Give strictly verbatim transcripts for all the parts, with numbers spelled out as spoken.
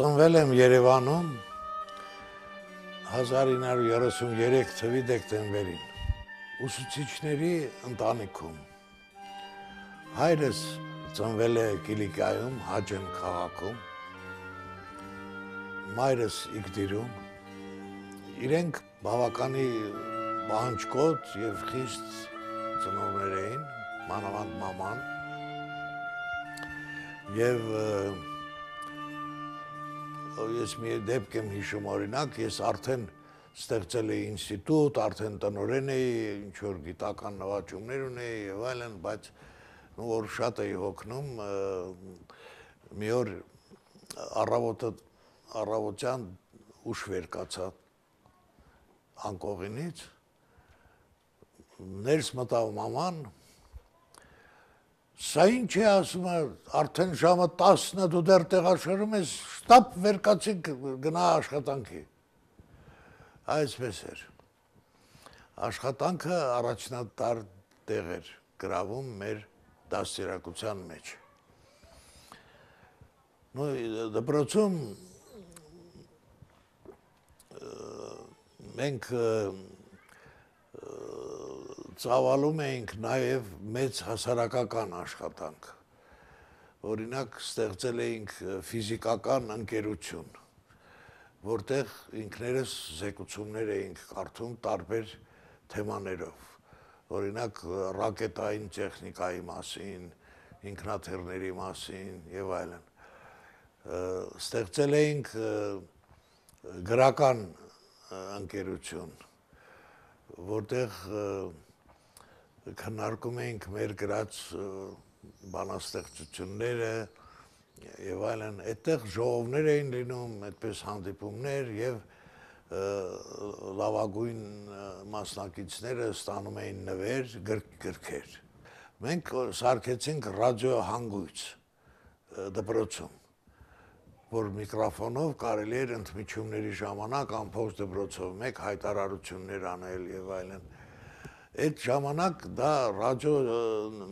Ծնվել եմ Երևանում հազար ինը հարյուր երեսուններեք թվականի դեկտեմբերին, ուսուցիչների ընտանիքում։ Հայրս ծնվել է Կիլիկայում, Հաջեմ քաղաքում, մայրս Իգդիրում, իրենք բավականի պահանջկոտ և խիստ ծնողներ էին, մանավանդ մաման, և ես մի դեպք եմ հիշում օրինակ, ես արդեն ստեղծել էի ինստիտուտ, արդեն տնօրեն էի, ինչ-որ գիտական նվաճումներ ունեի և այլն, բայց որ շատ էի հոգնում, մի օր առավոտյան ուշ վեր կացա անկողինից, ներս մտավ մաման, սա ինչ է ասում է, արդեն ժամը տասն է, դու դեռ տեղաշարժում ես, շտապ վեր կացինք գնա աշխատանքի։ Այսպես էր։ Աշխատանքը առաջնատար տեղ էր գրավում մեր դաստիարակության մեջ։ Դպրոցում մենք ծավալում էինք նաև մեծ հասարակական աշխատանք, օրինակ ստեղծել էինք ֆիզիկական ընկերություն, որտեղ ինքներս զեկուցումներ էինք կարդում տարբեր թեմաներով, օրինակ ռակետային տեխնիկայի մասին, ինքնաթիռների մասին և այլն, ստեղծել էինք գրական ընկերություն, որտեղ քննարկում էինք մեր գրած բանաստեղծությունները և այլն, այդտեղ ժողովներ էին լինում, այդպես հանդիպումներ և լավագույն մասնակիցները ստանում էին նվեր, գրքեր։ Մենք սարքեցինք ռադիոհանգույց դպրոցում, որ միկրոֆոնով կարելի էր ընդմիջումների ժամանակ ամբողջ դպրոցով մեկ հայտարարություններ անել և այլն։ Այդ ժամանակ դա ռադիո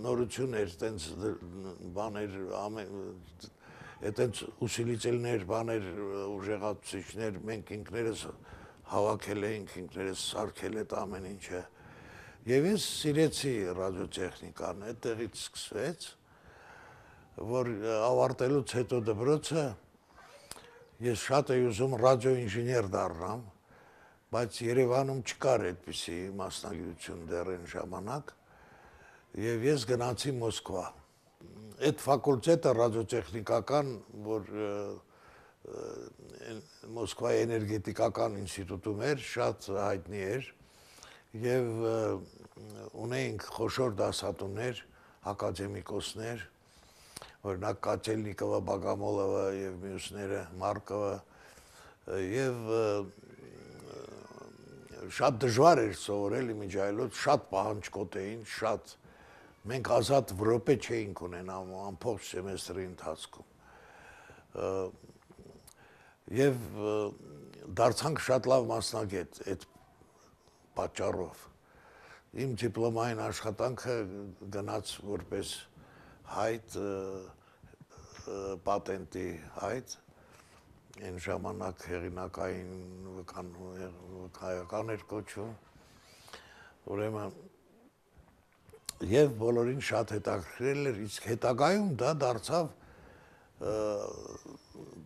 նորություն էր, տենց բաներ, տենց ուսիլիցիլներ, բաներ, ուժեղացուցիչներ, մենք ինքներս հավաքել էինք, ինքներս սարքել այդ ամեն ինչը։ Եվ ես սիրեցի ռադիոտեխնիկան, այդտեղից սկսվեց, որ ավարտելուց հետո դպրոցը ես շատ էի ուզում ռադիոինժեներ դառնամ, բայց Երևանում չկար այդպիսի մասնագիտություն դեռ այն ժամանակ, և ես գնացի Մոսկվա։ Այդ ֆակուլտետը ռադիոտեխնիկական, որ Մոսկվայի էներգետիկական ինստիտուտում էր, շատ հայտնի էր, և ունեինք խոշոր դասատուներ, ակադեմիկոսներ, օրինակ Կատելնիկովը, Բագամոլովը և մյուսները, Մարկովը, և շատ դժվար էր սովորել իմիջիայլոց, շատ պահանջկոտ էին, շատ, մենք ազատ րոպե չէինք ունենամ ամբողջ սեմեստրի ընթացքում։ Եվ դարձանք շատ լավ մասնագետ այդ պատճառով։ Իմ դիպլոմային աշխատանքը գնաց որպես հայտ, պատենտի հայտ, այն ժամանակ հեղինակային վկայական էր կոչվում, ուրեմն, և բոլորին շատ հետաքրքրել էր, իսկ հետագայում դա դարձավ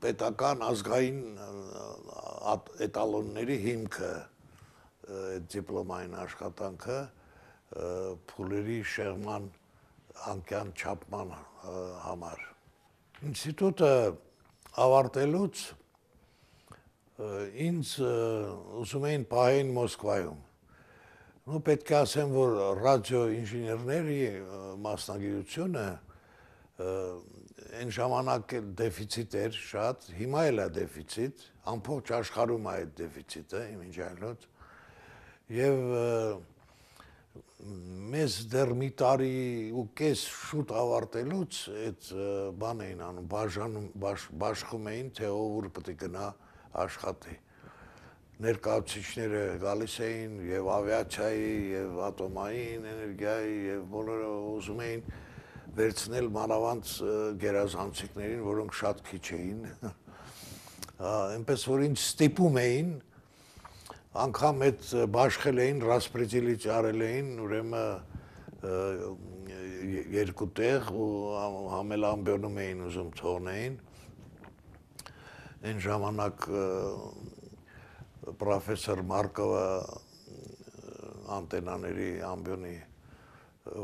պետական ազգային էտալոնների հիմքը, այդ դիպլոմային աշխատանքը, փուլերի շեղման անկյան չափման համար։ Ինստիտուտը ավարտելուց ինձ ուզում էին պահեին Մոսկվայում։ Պետք է ասեմ, որ ռադիոինժեներների մասնագիտությունը այն ժամանակ դեֆիցիտ էր շատ, հիմա էլ է դեֆիցիտ, ամբողջ աշխարհում է այդ դեֆիցիտը իմիջիայլոց, և մեզ դեռ մի տարի ու կես շուտ ավարտելուց այդ բան էին անում, բաշխում էին, թե ով ուր պետք է գնա աշխատի։ Ներկայացուցիչները գալիս էին և ավիացիայի, և ատոմային էներգիայի, և բոլորը ուզում էին վերցնել մանավանդ գերազանցիկներին, որոնք շատ քիչ էին, այնպես որ ինձ ստիպում էին, անգամ այդ բաշխել էին, ռասպրեդիլիչ արել էին, ուրեմն երկու տեղ ու համելամբյոնում էին ուզում թողնեին։ Այն ժամանակ պրոֆեսոր Մարկովը անտենաների ամբյոնի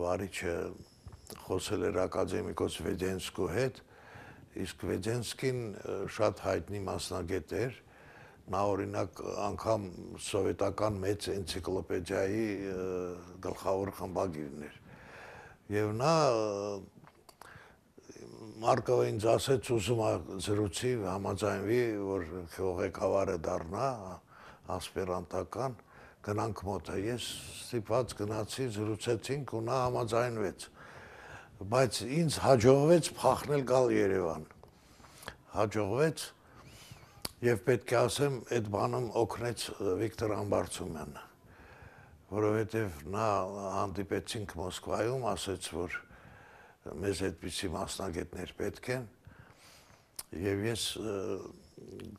վարիչը խոսել էր ակադեմիկոս Վեդենսկու հետ, իսկ Վեդենսկին շատ հայտնի մասնագետ էր, նա օրինակ անգամ սովետական մեծ էնցիկլոպեդիայի գլխավոր խմբագիրն էր։ Եվ նա Մարկովը ինձ ասեց, ուզում է զրուցի, համաձայնվի, որ ղեկավարը դառնա ասպիրանտական, գնանք մոտ, ես ստիպված գնացի, զրուցեցինք ու նա համաձայնվեց, բայց ինձ հաջողվեց փախնել գալ Երևան, հաջողվեց եւ պետք է ասեմ, այդ բանում օգնեց Վիկտոր Ամբարձումյանը, որովհետեւ նա հանդիպեցինք Մոսկվայում, ասեց, որ մեզ այդպիսի մասնագետներ պետք են եւ ես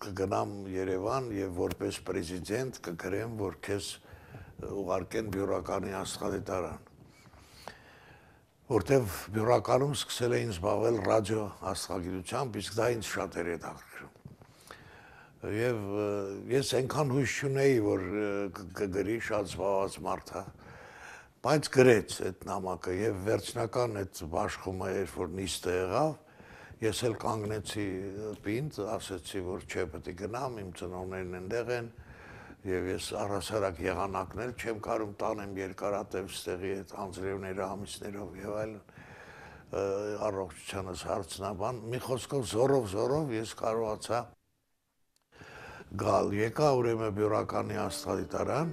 կգնամ Երևան եւ որպես պրեզիդենտ կգրեմ, որ քեզ ուղարկեն բյուրոկրատի աստղադիտարան, որտեւ բյուրոկրատում սկսել էին զբաղվել ռադիո աստղագիտությամբ, իսկ դա ինձ շատ էր հետաքրքրում։ Եվ ես այնքան հույս չունեի, որ կգրի, շատ զբաղված մարդ է, բայց գրեց այդ նամակը եւ վերջնական այդ բաշխումը էր, որ նիստը եղավ, ես էլ կանգնեցի պինդ, ասեցի, որ չէ, պետք է գնամ, իմ ծնողներն այնտեղ են եւ ես առհասարակ եղանակներ չեմ կարում տանեմ երկարատև ստեղի այդ անձրևները ամիսներով եւ այլն, առողջությանս հարցնաբան, մի խոսքով զորով զորով ես կարողացա գալ, եկա ուրեմն բյուրոկրատի աստղադիտարան,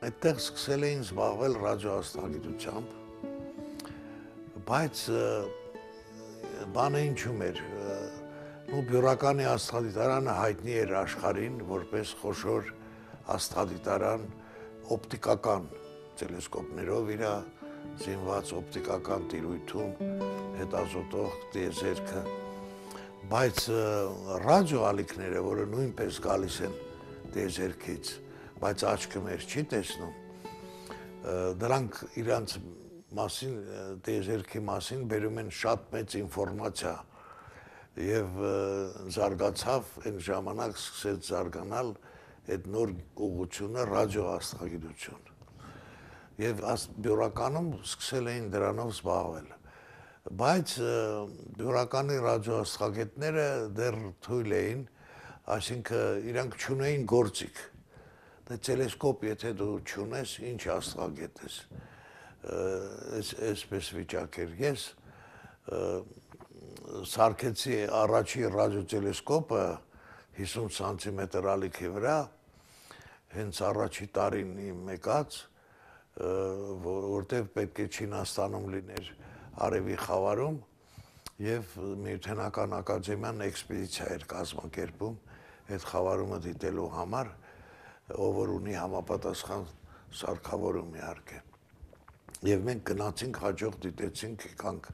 այդտեղ սկսել էին զբաղվել ռադիոաստղագիտությամբ, բայց բանը ինչու՞մ էր, ու բյուրոկրատի աստղադիտարանը հայտնի էր աշխարհին, որպես խոշոր աստղադիտարան օպտիկական տելեսկոպներով իր զինված օպտիկական տիրույթում հետազոտող տիեզերքը, բայց ռադիո ալիքները, որը նույնպես գալիս են տիեզերքից, բայց աչքը մեր չի տեսնում, դրանք իրանց մասին, տիեզերքի մասին բերում են շատ մեծ ինֆորմացիա եւ զարգացավ այն ժամանակ սկսեց զարգանալ այդ նոր ուղղությունը ռադիոաստղագիտություն։ Եվ բյուրոկրատում սկսել էին դրանով զբաղվել։ Բայց բյուրոկրատի ռադիոաստղագետները դեռ թույլ էին, այսինքն իրանք չունեին գործիք։ Դե տելեսկոպ եթե դու չունես, ինչ աստղագետ ես։ Այսպես վիճակ էր։ Ես սարքեցի առաջի ռադիոտելեսկոպը հիսուն սանտիմետր ալիքի վրա, հենց առաջի տարին իմ եկած, որտեղ պետք է Չինաստանում լիներ Արևի խավարում եւ Միութենական ակադեմիան էքսպեդիցիա էր կազմակերպում այդ խավարումը դիտելու համար, ով որ ունի համապատասխան սարքավորում իհարկե։ Եվ մենք գնացինք, հաջող դիտեցինք, եկանք,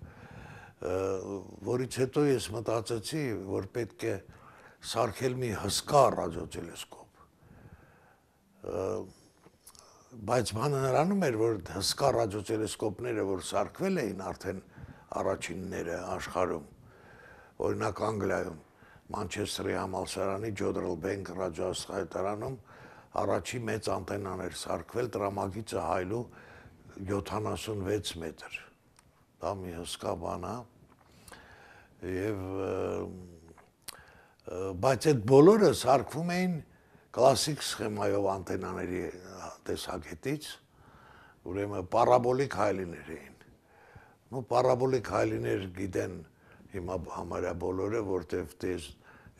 որից հետո ես մտածեցի, որ պետք է սարքել մի հսկա ռադիոտելեսկոպ։ Բայց բանը նրանում էր, որ հսկա ռադիոտելեսկոպները, որ սարքվել էին արդեն առաջինները աշխարհում, օրինակ Անգլիայում, Մանչեսթերի համալսարանի Ջոդրել Բենք ռադիոաստղադիտարանում առաջի մեծ անտենան էր սարքվել, տրամագիծը հայլու յոթանասունվեց մետր։ Դա մի հսկա բան է։ Եվ բայց այդ բոլորը սարքվում էին կլասիկ սխեմայով անտենաների տեսակետից, ուրեմն պարաբոլիկ հայլիներ էին։ Ու պարաբոլիկ հայլիներ գիտեն հիմա համարյա բոլորը, որտեվ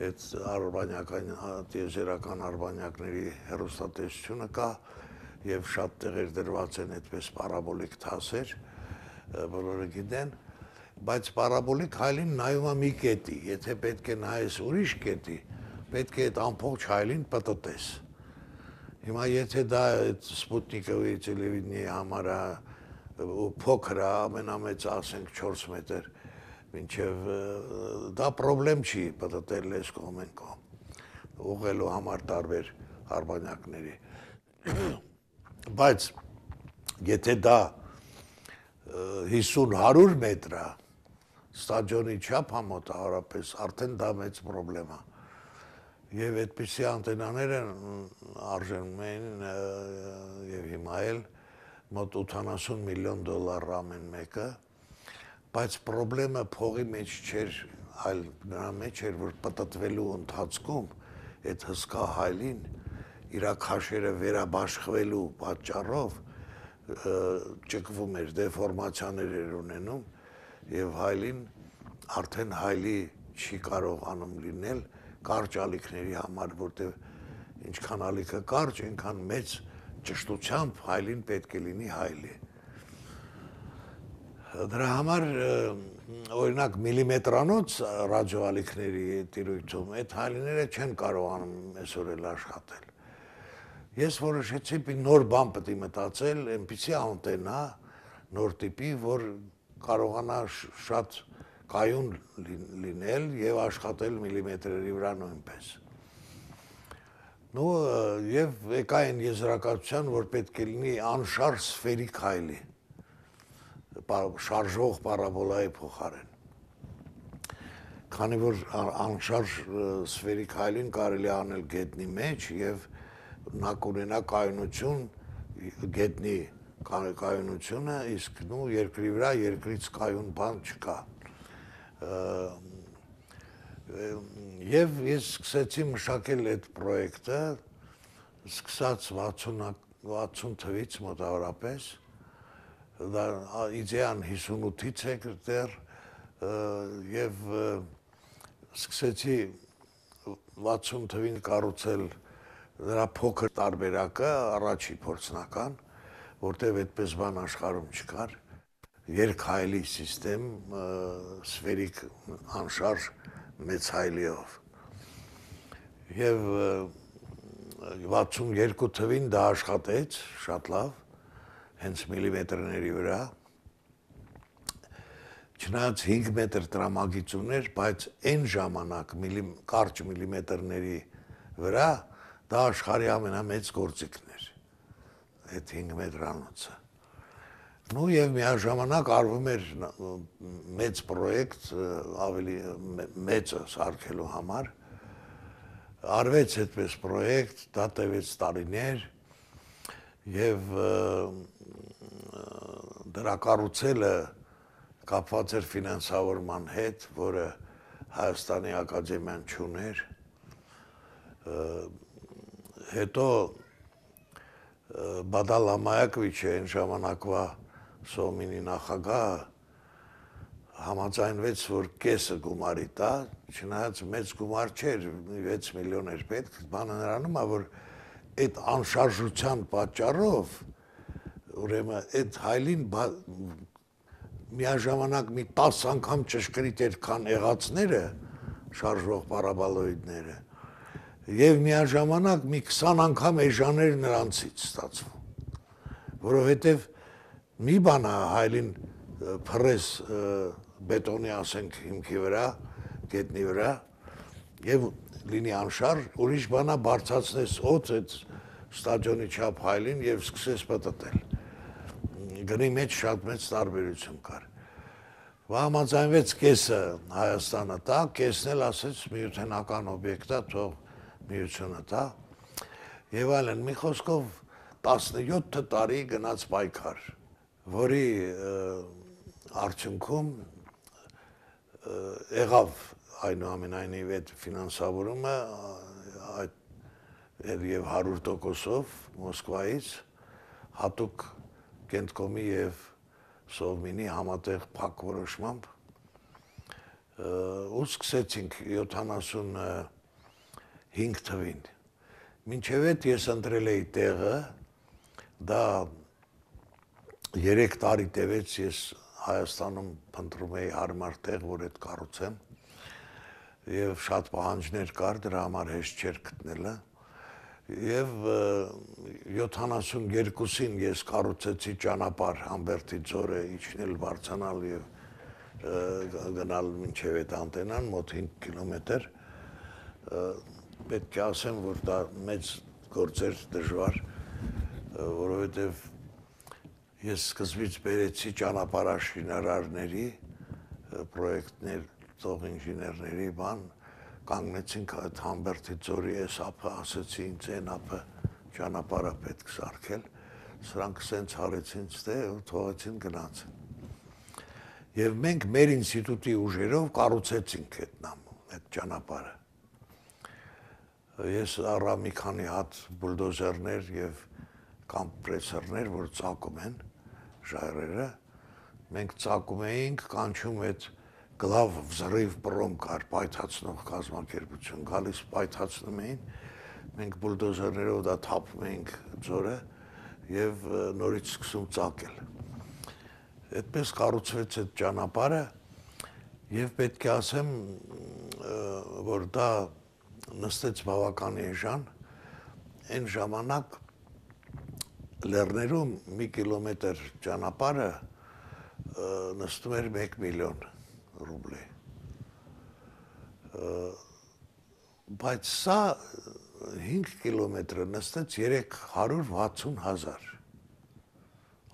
այդ արբանյակային տիեզերական արբանյակների հեռուստատեսությունը կա եւ շատ տեղեր դրված են այդպես պարաբոլիկ թասեր, բոլորը գիտեն, բայց պարաբոլիկ հայլին նայում է մի կետի, եթե պետք է նայես ուրիշ կետի, պետք է այդ ամբողջ հայլին պտտես։ Հիմա եթե դա այդ Սպուտնիկովի տելևիզիոնի համար փոքր է, ամենամեծ ասենք չորս մետր, մինչև դա պրոբլեմ չի պտտել այս կողմ են կողմ։ ուղղելու համար տարբեր արբանյակների։ Բայց եթե դա հիսուն հարյուր մետր է, ստադիոնի չափ համոտավորապես, արդեն դա մեծ պրոբլեմ է։ Եվ այդպիսի անտենաները արժենում էին եւ հիմա էլ մոտ ութանասուն միլիոն դոլար ամեն մեկը, բայց պրոբլեմը փողի մեջ չէր, այլ նրա մեջ էր, որ պտտվելու ընթացքում այդ հսկա հայլին իր քաշերը վերաբաշխվելու պատճառով ճկվում էր, դեֆորմացիաներ էր ունենում եւ հայլին արդեն հայլի չի կարողանում լինել կարճ ալիքների համար, որտեղ ինչքան ալիքը կարճ, այնքան մեծ ճշտությամբ հայլին պետք է լինի հայլի։ Դրա համար օրինակ միլիմետրանոց ռադիոալիքների տիրույթում այդ հայլիները չեն կարողանում այսօր էլ աշխատել։ Ես որոշեցի մի նոր բան պետք է մտածել, այնպիսի անտենա, նոր տիպի, որ կարողանա շատ կայուն լինել եւ աշխատել միլիմետրերի վրա նույնպես։ Ну, եւ եկա այն եզրակացության, որ պետք է լինի անշարժ սֆերիկ հայլի, շարժող պարաբոլայի փոխարեն։ Քանի որ անշարժ սֆերիկ հայլին կարելի է անել գետնի մեջ եւ նա կունենա կայունություն, գետնի կայունությունը, իսկ նու երկրի վրա երկրից կայուն բան չկա։ Եվ ես սկսեցի մշակել այդ պրոյեկտը, սկսած վաթսուն թվից մոտավորապես, դա իդեան հիսունութից է դեռ, եւ սկսեցի վաթսուն թվին կառուցել դրա փոքր տարբերակը, առաջի փորձնական, որտեղ այդպես բան աշխարհում չկար, երկհայլի սիստեմ, սֆերիկ անշարժ մեծ հայլիով։ Եվ վաթսուն երկու թվին դա աշխատեց շատ լավ, հենց միլիմետրների վրա, չնայած հինգ մետր տրամագիծ ուներ, բայց այն ժամանակ կարճ միլիմետրների վրա դա աշխարհի ամենամեծ գործիքն էր, այդ հինգ մետրանոցը։ Ну եւ միաժամանակ արվում էր մեծ պրոյեկտ, ավելի մեծը սարքելու համար, արվեց այդպես պրոյեկտ, դա տևեց տարիներ եւ դրա կառուցելը կապված էր ֆինանսավորման հետ, որը Հայաստանի ակադեմիան չուներ, հետո Բադալ Ամայակովիչը այն ժամանակվա Սոմինի նախագահը համաձայնվեց, որ կեսը գումարի տա, չնայած մեծ գումար չէր, վեց միլիոն էր պետք, բանը նրանում է, որ այդ անշարժության պատճառով, ուրեմն այդ հայլին միաժամանակ մի տաս անգամ ճշգրիտ էր, քան եղածները, շարժվող պարաբոլոիդները, եւ միաժամանակ մի քսան անգամ էժաներ նրանցից ստացվում, որովհետեւ մի բան է հայլին փռես բետոնի ասենք հիմքի վրա, գետնի վրա եւ լինի անշարժ, ուրիշ բան է բարձրացնես օդ այդ ստադիոնի չափ հայլին եւ սկսես պտտել։ Գնի մեջ շատ մեծ տարբերություն կար։ Համաձայնվեց կեսը Հայաստանը տա, կեսն էլ ասեց միութենական օբյեկտ է, թող միությունը տա եւ այլն, մի խոսքով տասնյոթ տարի գնաց պայքար, որի արդյունքում եղավ այնուամենայնիվ այդ ֆինանսավորումը եւ հարյուր տոկոսով Մոսկվայից հատուկ Կենտկոմի եւ Սովմինի համատեղ փակ որոշմամբ ու սկսեցինք յոթանասուն հինգ թվին։ Մինչև այդ ես ընտրել էի տեղը, դա երեք տարի տևեց, ես Հայաստանում փնտրում էի հարմար տեղ, որ այդ կառուցեմ, եւ շատ պահանջներ կար, դրա համար հեշտ չէր գտնելը, եւ յոթանասուն երկուսին ես կառուցեցի ճանապարհ Համբերդի ձորը իջնել բարձրանալ եւ գնալ մինչև այդ անտենան, մոտ հինգ կիլոմետր, պետք է ասեմ, որ դա մեծ գործ էր դժվար, որովհետև ես սկզբից բերեցի ճանապարհաշինարարների պրոյեկտներ, ծով ինժեներների բան, կանգնեցինք այդ Համբերդի ձորի այս ափը, ասեցի ինձ այն ափը ճանապարհը պետք սարքել, սրանք սենց հարեցին ստե ու թողեցին գնացին։ Եվ մենք մեր ինստիտուտի ուժերով կառուցեցինք այդ նամ, այդ ճանապարհը։ Ես առա մի քանի հատ բուլդոզերներ եւ կոմպրեսորներ, որ ծակում են ժայռերը, մենք ծակում էինք, կանչում այդ գլավ վզրիվ պրոմ կար, պայթացնող կազմակերպություն, գալիս պայթացնում էին, մենք բուլդոզերներով դա թափում էինք ձորը եւ նորից սկսում ծակել։ Այդպես կառուցվեց այդ ճանապարհը եւ պետք է ասեմ, որ դա նստեց բավական էժան, այն ժամանակ լեռներում մի կիլոմետր ճանապարհը նստում էր մեկ միլիոն ռուբլի։ Բայց սա հինգ կիլոմետրը նստեց երեք հարյուր վաթսուն հազար։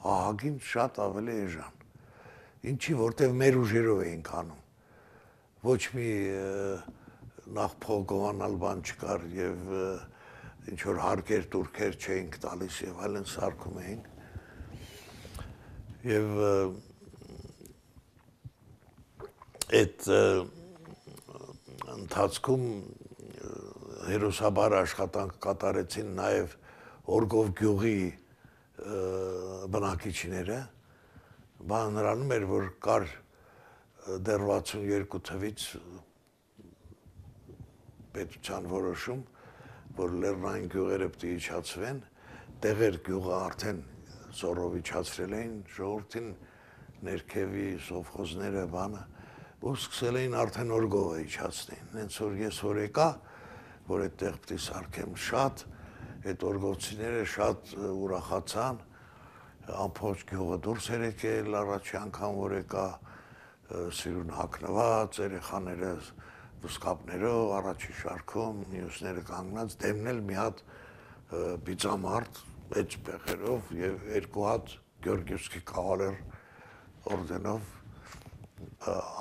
Ահագին շատ ավելի էժան։ Ինչի, որտեղ մեր ուժերով էինք անում։ Ոչ մի նախ փոխանալ բան չկար եւ ինչ որ հարկեր турքեր չէինք տալիս եւ այլն սարքում էինք։ Եվ այդ ընթացքում հերոսաբար աշխատանք կատարեցին նաեւ Օրգով գյուղի բնակիչները, բան նրանում էր, որ կար դեռ վաթսունյոթ թվից պետության որոշում, որ լեռնային գյուղերը պետք է իջացվեն, տեղեր գյուղը արդեն զորով իջացրել էին, ժողովրդին ներքևի սովխոզները բանը, ու սկսել էին արդեն Օրգովը իջացնեն, հենց որ ես որ եկա, որ այդտեղ պետք է սարքեմ շատ, այդ օրգովցիները շատ ուրախացան, ամբողջ գյուղը դուրս էր եկել, առաջի անգամ որ եկա սիրուն հագնված, երեխաները վսկապներով, առաջի շարքում, մյուսները կանգնած, դեմնել մի հատ բիծամարդ, էջ պեղերով եւ երկու հատ Գյորգիևսկի կավալեր օրդենով,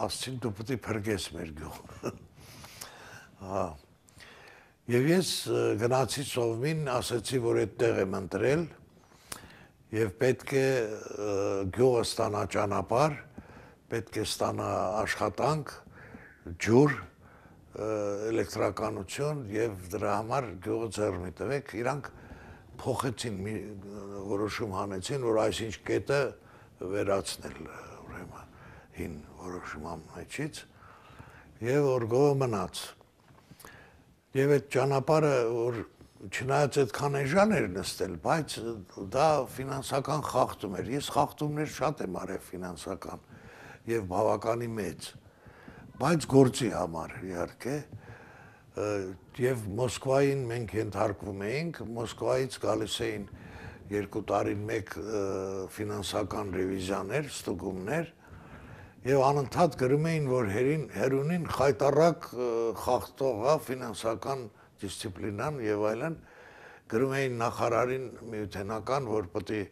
ասցին դու պետք է փրկես մեր գյուղը։ Եվ ես գնացի Սովմին, ասացի, որ այդտեղ եմ ընտրել եւ պետք է գյուղը ստանա ճանապարհ, պետք է ստանա աշխատանք, ջուր, էլեկտրականություն եւ դրա համար գյուղը ձեռ մի տվեք, իրանք փոխեցին, որոշում հանեցին, որ այսինչ կետը վերացնել, ուրեմն հին որոշման մեջից եւ Օրգովը մնաց։ Եվ այդ ճանապարհը, որ չնայած այդքան էժան էր նստել, բայց դա ֆինանսական խախտում էր։ Ես խախտումներ շատ եմ արել ֆինանսական եւ բավականի մեծ, բայց գործի համար իհարկե, եւ Մոսկվային մենք ենթարկվում էինք, Մոսկվայից գալիս էին երկու տարին մեկ ֆինանսական ռևիզիաներ, ստուգումներ, եւ անընդհատ գրում էին, որ հերունին խայտարակ խախտող է ֆինանսական դիսցիպլինան եւ այլն, գրում էին նախարարին միութենական, որ պետք է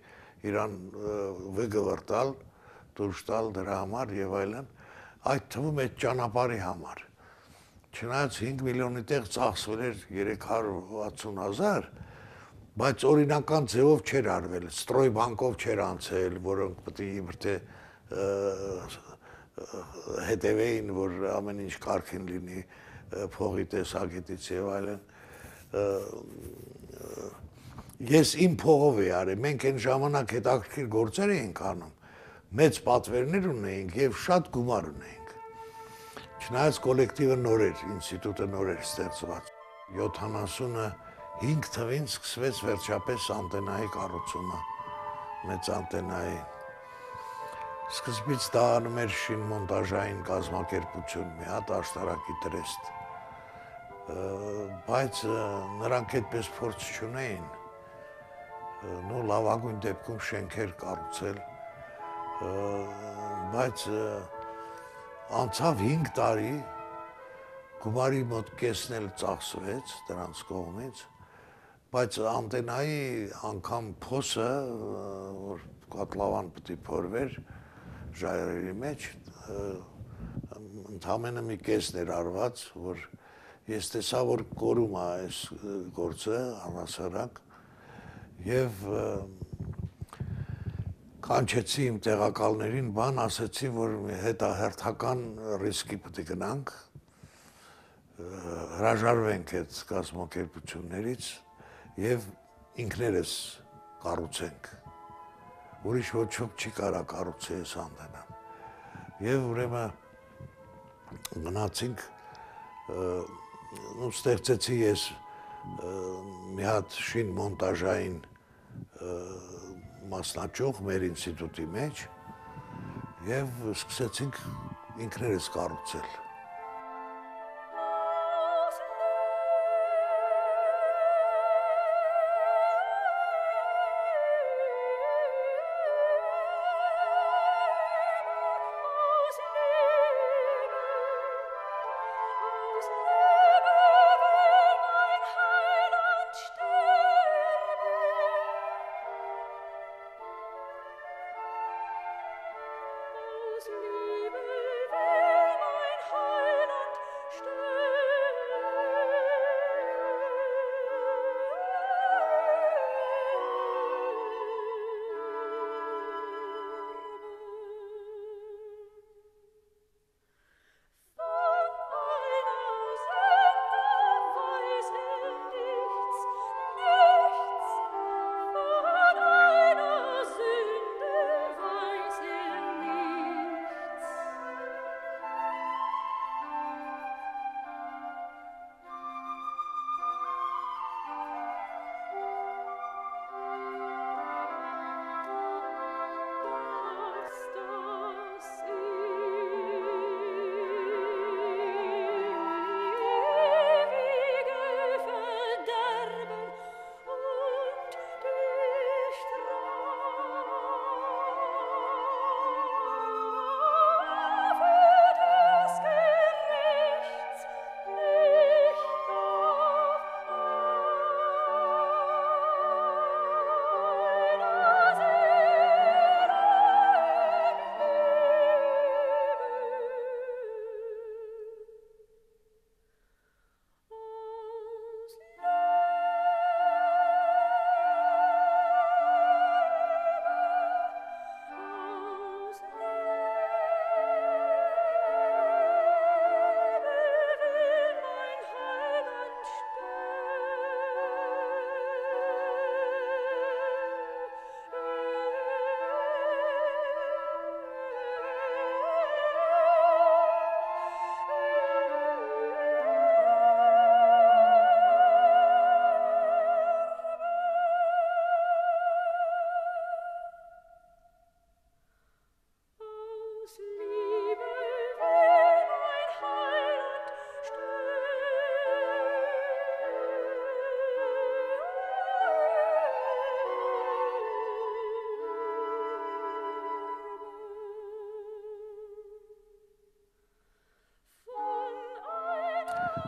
իրան վգվրտալ, դուրս տալ դրա համար եւ այլն, այդ թվում այդ ճանապարհի համար։ Չնայած հինգ միլիոնի տեղ ծախսվել էր երեք հարյուր վաթսուն հազար, բայց օրինական ձևով չէր արվել, ստրոյ բանկով չէր անցել, որոնք պետք է իբրթե հետևեին, որ ամեն ինչ կարգին լինի փողի տեսակետից եւ այլն։ Ես իմ փողով էի արել, մենք այն ժամանակ հետաքրքիր գործեր էինք անում, մեծ պատվերներ ունեինք եւ շատ գումար ունեինք։ Չնայած կոլեկտիվը նոր էր, ինստիտուտը նոր էր ստեղծված։ յոթանասունհինգ թվին սկսվեց վերջապես անտենայի կառուցումը, մեծ անտենայի։ Սկզբից դա անում էր շինմոնտաժային կազմակերպություն, մի հատ աշտարակի տրեստ, բայց նրանք այդպես փորձ չունեին, նո լավագույն դեպքում շենքեր կառուցել, բայց անցավ հինգ տարի, գումարի մոտ կեսն էլ ծախսվեց դրանց կողմից, բայց անտենայի անգամ փոսը, որ կատլավան պետք է փորվեր ժայռերի մեջ, ընդամենը մի կեսն էր արված, որ ես տեսա, որ կորում է այս գործը առհասարակ եւ կանչեցի իմ տեղակալներին, բան ասեցի, որ հետահերթական ռիսկի պետք է գնանք, հրաժարվենք այդ կազմակերպություններից եւ ինքներս կառուցենք։ Ուրիշ ոչ ոք չի կարա կառուցի այս անտենան։ Եվ ուրեմն գնացինք, ու ստեղծեցի ես մի հատ շին մոնտաժային մասնաճյուղ մեր ինստիտուտի մեջ եւ սկսեցինք ինքներս կառուցել։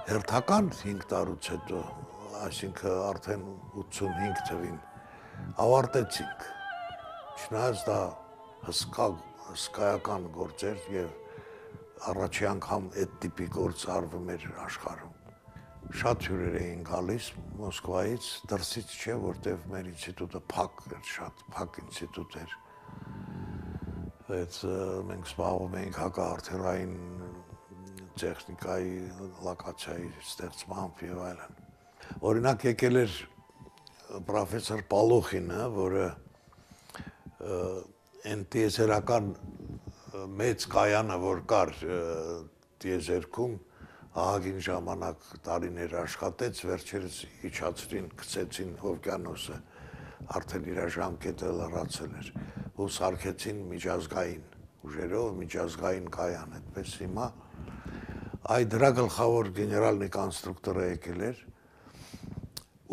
Հերթական հինգ տարուց հետո, այսինքն արդեն ութսունհինգ թվին, ավարտեցինք, չնայած դա հսկա, հսկայական գործ էր եւ առաջի անգամ այդ տիպի գործ արվում էր աշխարհում։ Շատ հյուրեր էին գալիս Մոսկվայից, դրսից չէ, որտեվ մեր ինստիտուտը փակ էր, շատ փակ ինստիտուտ էր։ Այդ մենք զբաղվում էինք հակաարդերային տեխնիկայի, լոկացիայի ստեղծմամբ եւ այլն։ Օրինակ եկել էր պրոֆեսոր Պալոխինը, որը այն տիեզերական մեծ կայանը, որ կար տիեզերքում, ահագին ժամանակ տարիներ աշխատեց, վերջերս իջացրին, գցեցին օվկիանոսը, արդեն իր ժամկետը լրացել էր, ու սարքեցին միջազգային ուժերով, միջազգային կայան, այդպես հիմա Այդ դրա գլխավոր գեներալնի կոնստրուկտորը եկել էր,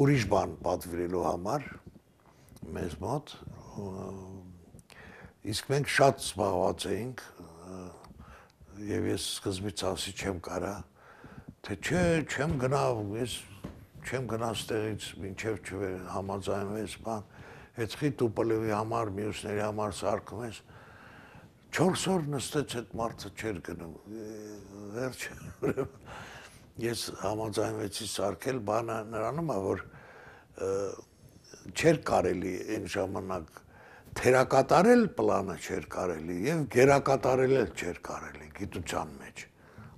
ուրիշ բան պատվիրելու համար, մեզ մոտ, իսկ մենք շատ զբաղված էինք, եւ ես սկզբից ասի չեմ կարա, թե չէ, չեմ գնա, ես չեմ գնա ստեղից, մինչև չհամաձայնվես, բան, հետ խիտ ու պլևի համար, մյուսների համար սարքում ես, չորս օր նստեց այդ մարդը չեր գնում, վերջը, ես համաձայնվեցի սարքել, բանը նրանում է, որ չէր կարելի այն ժամանակ թերակատարել պլանը չէր կարելի և գերակատարել էլ չէր կարելի գիտության մեջ,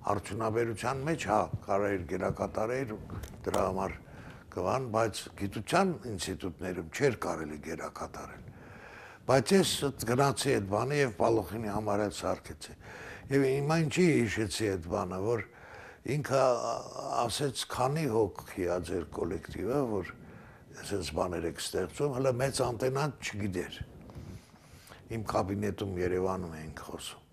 արդյունաբերության մեջ, հա, կարել գերակատարել, դրա համար կվան, բայց գիտության ինստիտուտներում չէր կարելի գերակատարել, բայց ես գնացի այդ բանը և Պալուխինի համար էլ սարքեցի, և հիմա ինչի հիշեցի այդ բանը, որ ինքը ասեց քանի հոգի ա ձեր կոլեկտիվը, որ այսպես բաներ եք ստեղծում, հələ մեծ անտենան չգիտեր, իմ կաբինետում Երևանում էինք խոսում,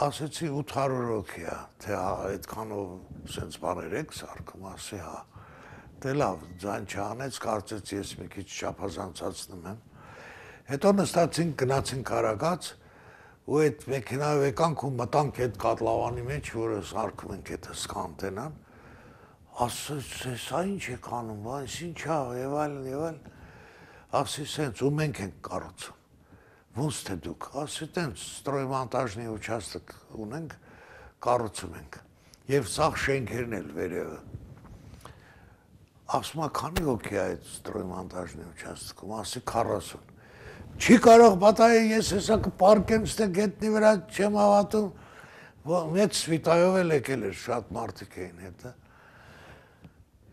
ասեցի ութ հարյուր հոգի ա, թե այդքանով սենց բաներ եք սարքում, ասի հա, դե լավ, ձայն չանեց, կարծեց ես մի քիչ չափազանցացնում եմ, հետո նստացինք, գնացինք Արագած, ու այդ մեքենայով եկանք ու մտանք այդ կատլավանի մեջ, որը սարքում ենք այդ հսկա անտենան, ասեց, սա ինչ եք անում, այս ինչ ա, և այլն, և այլն, ասի սենց, ու մենք ենք կառուցում, ոնց թե դուք, ասի տենց, ստրոյմոնտաժնի ուչաստք ունենք, կառուցում ենք, և սաղ շենքերն էլ վերևը, ասում ա քանի հոգի ա այդ ստրոյմոնտաժնի ուչաստքում, ասի քառասուն, չի կարող պատահի ես հեսա կպարկեմ ստե գետնի վրա չեմ հավատում, մեծ սվիտայով էլ եկել էր, շատ մարդիկ էին հետը,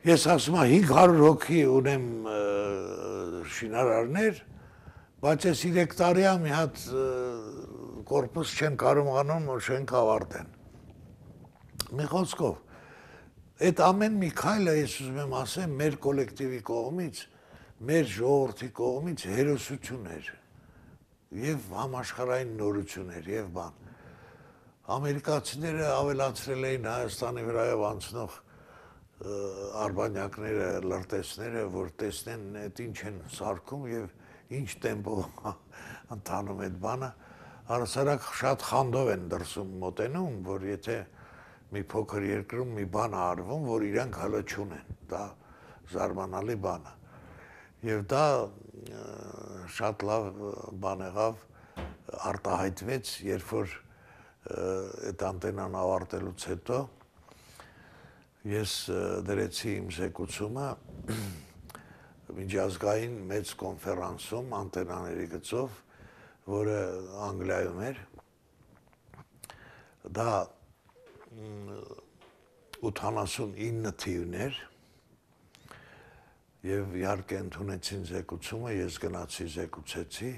ես ասում ա հինգ հարյուր հոգի ունեմ շինարարներ, բայց ես երեք տարի ա մի հատ կորպուս չեն կարողանում շենք ավարտեն, մի խոսքով, այդ ամեն մի քայլը ես ուզում եմ ասեմ մեր կոլեկտիվի կողմից, մեր ժողովրդի կողմից հերոսություն էր և համաշխարհային նորություն էր և բան, ամերիկացիները ավելացրել էին Հայաստանի վրայով անցնող արբանյակները, լրտեսները, որ տեսնեն այդ ինչ են սարքում և ինչ տեմպով ընթանում այդ բանը, առհասարակ շատ խանդով են դրսում մոտենում, որ եթե մի փոքր երկրում մի բան արվում, որ իրանք հələ չունեն, դա զարմանալի բան է, և դա շատ լավ բան եղավ, արտահայտվեց, երբ որ այդ անտենան ավարտելուց հետո, ես դրեցի իմ զեկուցումը միջազգային մեծ կոնֆերանսում անտենաների գծով, որը Անգլիայում էր, դա ութանասունինը թիվներ, և իհարկե ընդունեցին զեկուցումը, ես գնացի զեկուցեցի,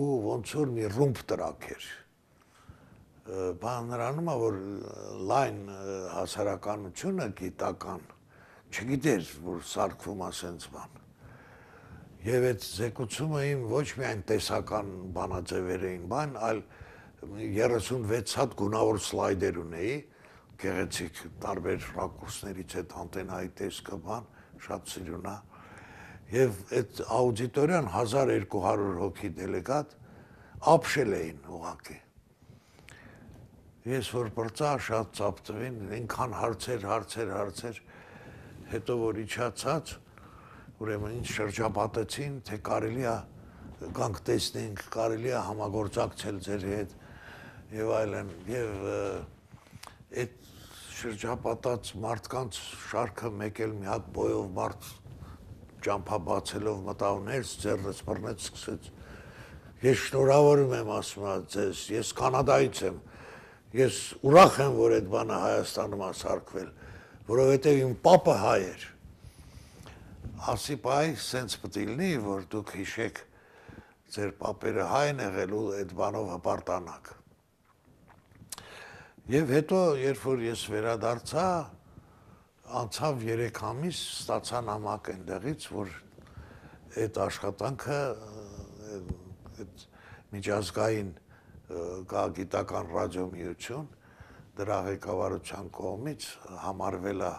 ու ոնց որ մի ռումբ տրակ էր, բան նրանում է, որ լայն հասարականությունը գիտական չգիտեր, որ սարքվում է սենց բան, և այդ զեկուցումը իմ ոչ միայն տեսական բանաձևեր էին բան, այլ երեսունվեց հատ գունավոր սլայդեր ունեի, գեղեցիկ տարբեր ռակուրսներից այդ անտենայի տեսքը բան, շատ սիրուն է, և այդ աուդիտորիան հազար երկու հարյուր հոգի դելեգատ ապշել էին ուղղակի, ես որ պրծա շատ ծապտվին, ինքան հարցեր, հարցեր, հարցեր, հետո որ իջացած, ուրեմն ինձ շրջապատեցին, թե կարելի է գանք տեսնենք, կարելի է համագործակցել ձեր հետ և այլն, և այդ շրջապատած մարդկանց շարքը մեկ էլ մի հատ բոյով մարդ ճամփա բացելով մտավ ներս, ձեռքս բռնեց, սկսեց, ես շնորհավորում եմ ասում ձեզ, ես Կանադայից եմ, ես ուրախ եմ, որ այդ բանը Հայաստանում է սարքվել, որովհետև իմ պապը հայ էր, ասի պայ, սենց պտի լինի, որ դուք հիշեք ձեր պապերը հայ են եղել ու այդ բանով հպարտանաք, և հետո, երբ որ ես վերադարձա, անցավ երեք ամիս, ստացա նամակ այնտեղից, որ այդ աշխատանքը միջազգային գիտական ռադիոմիություն, դրա ղեկավարության կողմից համարվել է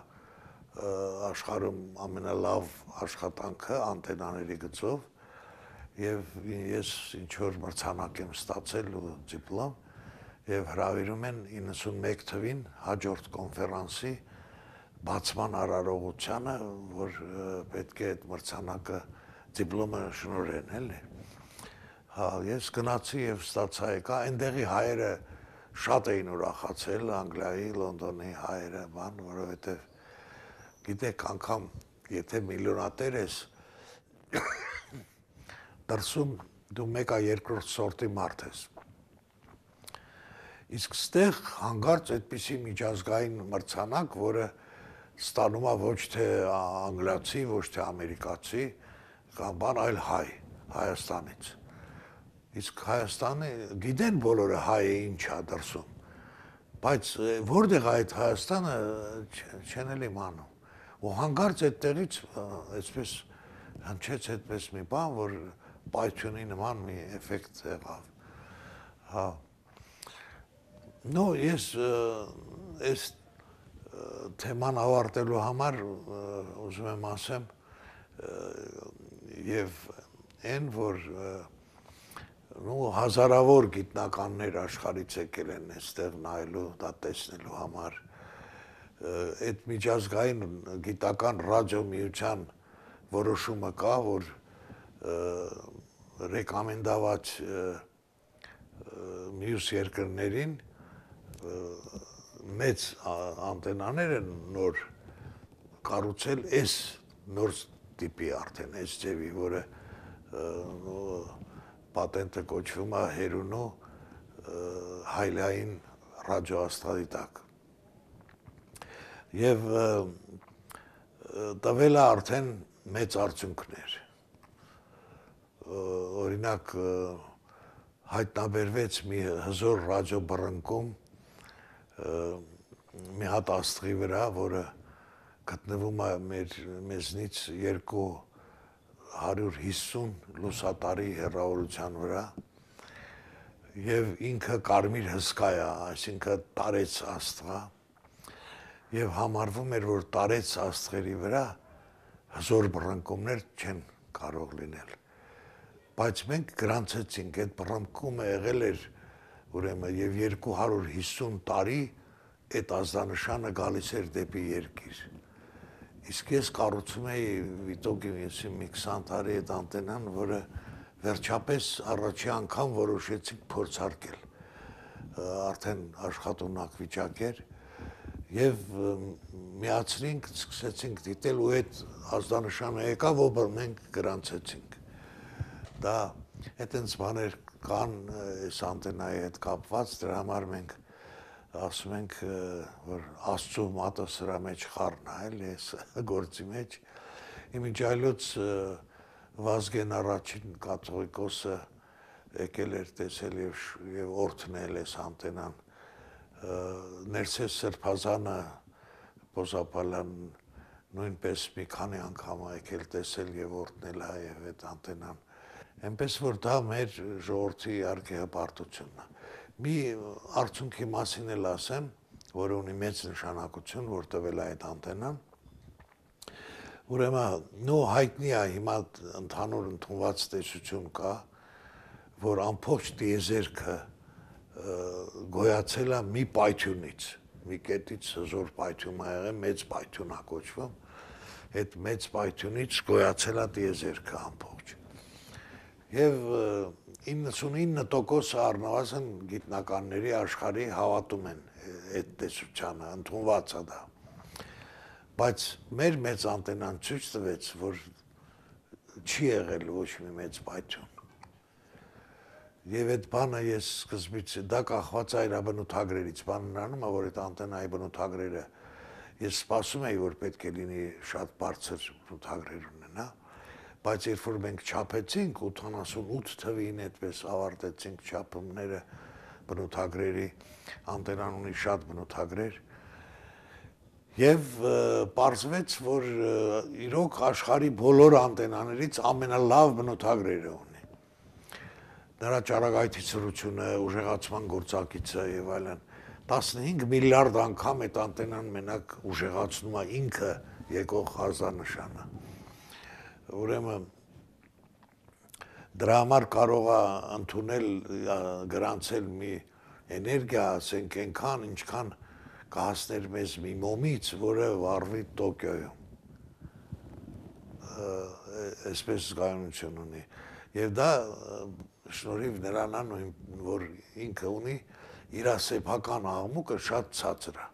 աշխարհում ամենալավ աշխատանքը անտենաների գծով և ես ինչ-որ մրցանակ եմ ստացել ու դիպլոմ եւ հրավիրում են իննսունմեկ թվին հաջորդ կոնֆերանսի բացման արարողությանը, որ պետք է այդ մրցանակը դիպլոմը շնորհեն, էլի։ Հա, ես գնացի եւ ստացա եկա, այնտեղի հայերը շատ էին ուրախացել, Անգլիայի, Լոնդոնի հայերը, բան, որովհետեւ գիտեք, անգամ եթե միլիոնատեր ես, դրսում դու մեկա երկրորդ սորտի մարդ ես։ Իսկ ստեղ հանգարց այդպիսի միջազգային մրցանակ, որը ստանում է ոչ թե անգլիացի, ոչ թե ամերիկացի, կամ բան, այլ հայ, Հայաստանից։ Իսկ Հայաստանը գիտեն բոլորը հայը ինչ է դրսում, բայց որտեղ այդ Հայաստանը չեն էլ իմանում։ Ու հանգարց այդտեղից այսպես հնչեց այդպես մի բան, որ պայթյունի նման մի էֆեկտ եղավ։ Հա։ Նո, ես այս թեման ավարտելու համար ուզում եմ ասեմ եւ այն, որ նո հազարավոր գիտնականներ աշխարհից եկել են այստեղ նայելու, դա տեսնելու համար, այդ միջազգային գիտական ռադիոմիության որոշումը կա, որ ռեկոմենդված մյուս երկրներին մեծ անտենաներ են նոր կառուցել այս նոր տիպի արդեն այս ձևի, որը պատենտը կոչվում է հերունու հայլային ռադիոաստղադիտակ։ Եվ տվել է արդեն մեծ արդյունքներ։ Օրինակ հայտնաբերվեց մի հզոր ռադիոբռնկում մի հատ աստղի վրա, որը գտնվում է մեր մեզնից երկու հարյուր հիսուն լուսատարի հեռավորության վրա եւ ինքը կարմիր հսկա է, այսինքն տարեց աստղա եւ համարվում էր, որ տարեց աստղերի վրա հզոր բռնկումներ չեն կարող լինել։ Բայց մենք գրանցեցինք, այդ բռնկումը եղել էր ուրեմն եւ երկու հարյուր հիսուն տարի այդ ազդանշանը գալիս էր դեպի երկիր։ Իսկ ես կառուցում էի վիտոկի մի քսան տարի այդ անտենան, որը վերջապես առաջի անգամ որոշեցինք փորձարկել։ Արդեն աշխատունակ վիճակ էր եւ միացրինք, սկսեցինք դիտել ու այդ ազդանշանը եկավ, որ մենք գրանցեցինք։ Դա այդպես բաներ կան այս անտենայի հետ կապված, դրա համար մենք ասում ենք, որ Աստծո մատը սրա մեջ խառն է, էլի, այս գործի մեջ։ Իմիջայլոց Վազգեն առաջին կաթողիկոսը եկել էր տեսել եւ օրհնել այս անտենան։ Ներսես Սրբազանը Պոզապալյան նույնպես մի քանի անգամ եկել տեսել եւ օրհնել է եւ այդ անտենան։ Այնպես որ դա մեր ժողովրդի իհարկե հպարտությունն է։ Մի արդյունքի մասին էլ ասեմ, որը ունի մեծ նշանակություն, որ տվել է այդ անտենան։ Ուրեմն նո հայտնի է հիմա ընդհանուր ընդունված տեսություն կա, որ ամբողջ տիեզերքը գոյացել է մի պայթյունից, մի կետից հզոր պայթյուն ա եղել, մեծ պայթյուն ա կոչվում, այդ մեծ պայթյունից գոյացել է տիեզերքը ամբողջ։ Եվ իննսունինը տոկոսը առնվազն գիտնականների աշխարհի հավատում են այդ տեսությանը, ընդունված է դա։ Բայց մեր մեծ անտենան ցույց տվեց, որ չի եղել ոչ մի մեծ պայթյուն։ Եվ այդ բանը ես սկզբից դա կախված է իր բնութագրերից, բանը նրանում է, որ այդ անտենայի բնութագրերը ես սպասում էի, որ պետք է լինի շատ բարձր բնութագրեր ունենա, բայց երբ որ մենք չափեցինք ութանասունութ թվին այդպես ավարտեցինք չափումները բնութագրերի, անտենան ունի շատ բնութագրեր, եւ պարզվեց, որ իրոք աշխարհի բոլոր անտենաներից ամենալավ բնութագրերը ունի։ Նրա ճառագայթի ցրությունը, ուժեղացման գործակիցը եւ այլն, տասնհինգ միլիարդ անգամ այդ անտենան մենակ ուժեղացնում է ինքը եկող ազդանշանը։ Ուրեմն դրա համար կարող է ընդունել գրանցել մի էներգիա, ասենք, այնքան, ինչքան կհասներ մեզ մի մոմից, որը վառվի Տոկիոյում։ Այսպես զգայունություն ունի։ Եվ դա շնորհիվ նրան, որ ինքը ունի իր սեփական աղմուկը շատ ցածր է։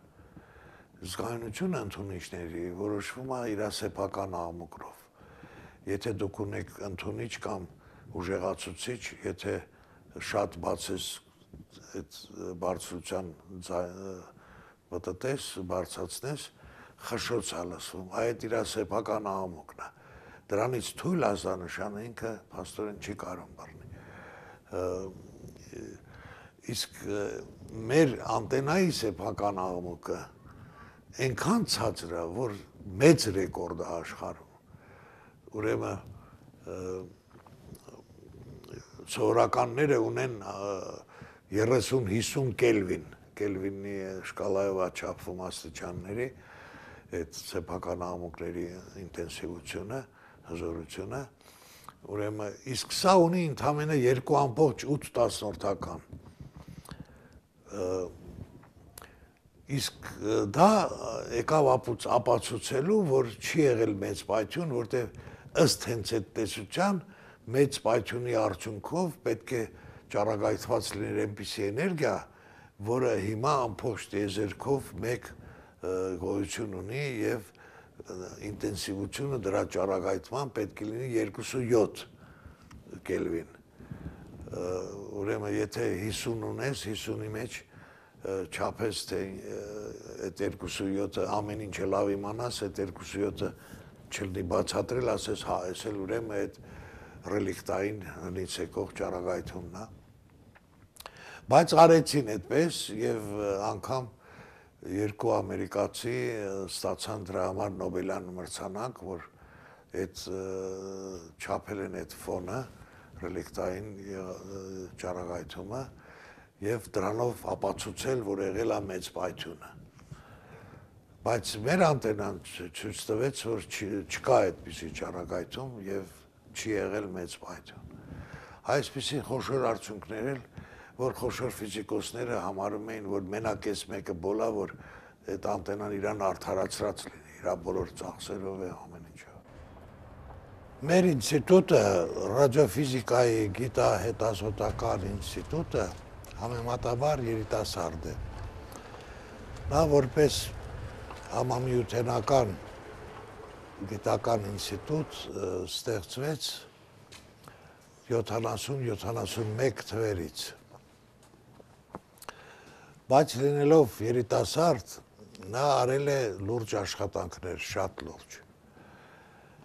Զգայունությունը ընդունիչների որոշվում է իր սեփական աղմուկով։ Եթե դուք ունեք ընդունիչ կամ ուժեղացուցիչ, եթե շատ բացես այդ բարձրության մտտես, բարձրացնես, խշշոց է լսվում, այդ իր սեփական աղմուկն է։ Դրանից թույլ ազդանշանը ինքը փաստորեն չի կարող բռնի։ Իսկ մեր անտենայի սեփական աղմուկը այնքան ցածր է, որ մեծ ռեկորդ է աշխարհում։ Ուրեմն սովորականները ունեն երեսուն հիսուն կելվին, կելվինի շկալայով է չափվում աստիճանների, այդ սեփական աղմուկների ինտենսիվությունը, հզորությունը, ուրեմն իսկ սա ունի ընդամենը երկու ամբողջ ութ տասնորդական։ Իսկ դա եկավ ապացուցելու, որ չի եղել մեծ պայթյուն, որտեղ ըստ հենց այդ տեսության մեծ պայթյունի արդյունքով պետք է ճառագայթված լիներ այնպիսի էներգիա, որը հիմա ամբողջ տիեզերքով մեկ գոյություն ունի եւ ինտենսիվությունը դրա ճառագայթման պետք է լինի երկուսույոթ կելվին։ Ուրեմն եթե հիսուն ունես, հիսունի մեջ չափես թե այդ երկուսույոթը ամեն ինչը լավ իմանաս, այդ երկուսույոթը չլինի բացատրել, ասես հա, այս էլ ուրեմն այդ ռելիկտային հնից եկող ճառագայթումն է։ Բայց արեցին այդպես եւ անգամ երկու ամերիկացի ստացան դրա համար Նոբելյան մրցանակ, որ այդ չափել են այդ ֆոնը, ռելիկտային ճառագայթումը եւ դրանով ապացուցել, որ եղել է մեծ պայթյունը։ Բայց մեր անտենան ցույց տվեց, որ չկա այդպիսի ճառագայթում եւ չի եղել մեծ պայթյուն։ Այսպիսի խոշոր արդյունքներ էլ, որ խոշոր ֆիզիկոսները համարում էին, որ մենակ էս մեկը բոլա, որ այդ անտենան իրան արդարացրած լինի, իր բոլոր ծախսերով է ամեն ինչով։ Մեր ինստիտուտը, ռադիոֆիզիկայի գիտահետազոտական ինստիտուտը համեմատաբար երիտասարդ է։ Նա որպես համամիութենական գիտական ինստիտուտ ստեղծվեց յոթանասուն յոթանասունմեկ թվերից։ Բայց լինելով երիտասարդ, նա արել է լուրջ աշխատանքներ, շատ լուրջ։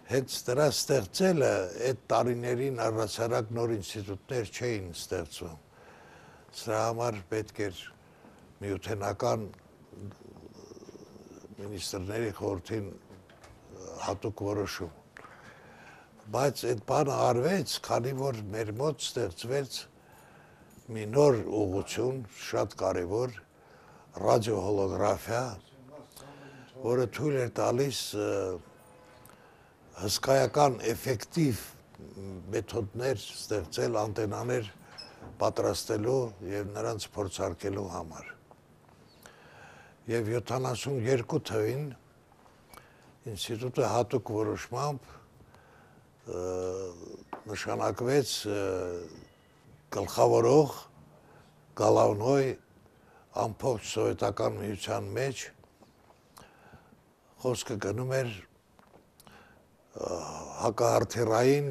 Հենց դրա ստեղծելը այդ տարիներին առհասարակ նոր ինստիտուտներ չէին ստեղծվում։ Սրա համար պետք էր միութենական մինիստրների խորհրդին հատուկ որոշում։ Բայց այդ բանը արվեց, քանի որ մեր մոտ ստեղծվեց մի նոր ուղղություն, շատ կարևոր, ռադիոհոլոգրաֆիա, որը թույլ էր տալիս հսկայական էֆեկտիվ մեթոդներ ստեղծել անտենաներ պատրաստելու եւ նրանց փորձարկելու համար։ Եվ յոթանասունյոթ թվին ինստիտուտը հատուկ որոշմամբ նշանակվեց գլխավորող Գալավնոյ ամբողջ սովետական միության մեջ, խոսքը գնում էր հակահարթերային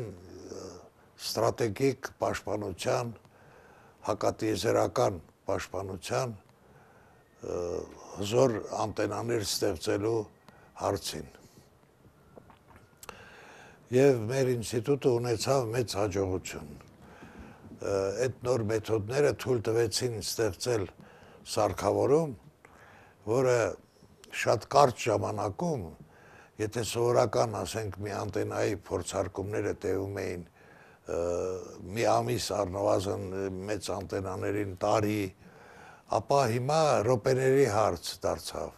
ստրատեգիկ պաշտպանության, հակատիեզերական պաշտպանության հզոր անտենաներ ստեղծելու հարցին։ Եվ մեր ինստիտուտը ունեցավ մեծ հաջողություն։ Այդ նոր մեթոդները թույլ տվեցին ստեղծել սարքավորում, որը շատ կարճ ժամանակում, եթե սովորական, ասենք, մի անտենայի փորձարկումները տևում էին մի ամիս առնվազն մեծ անտենաներին տարի, ապա հիմա րոպեների հարց դարձավ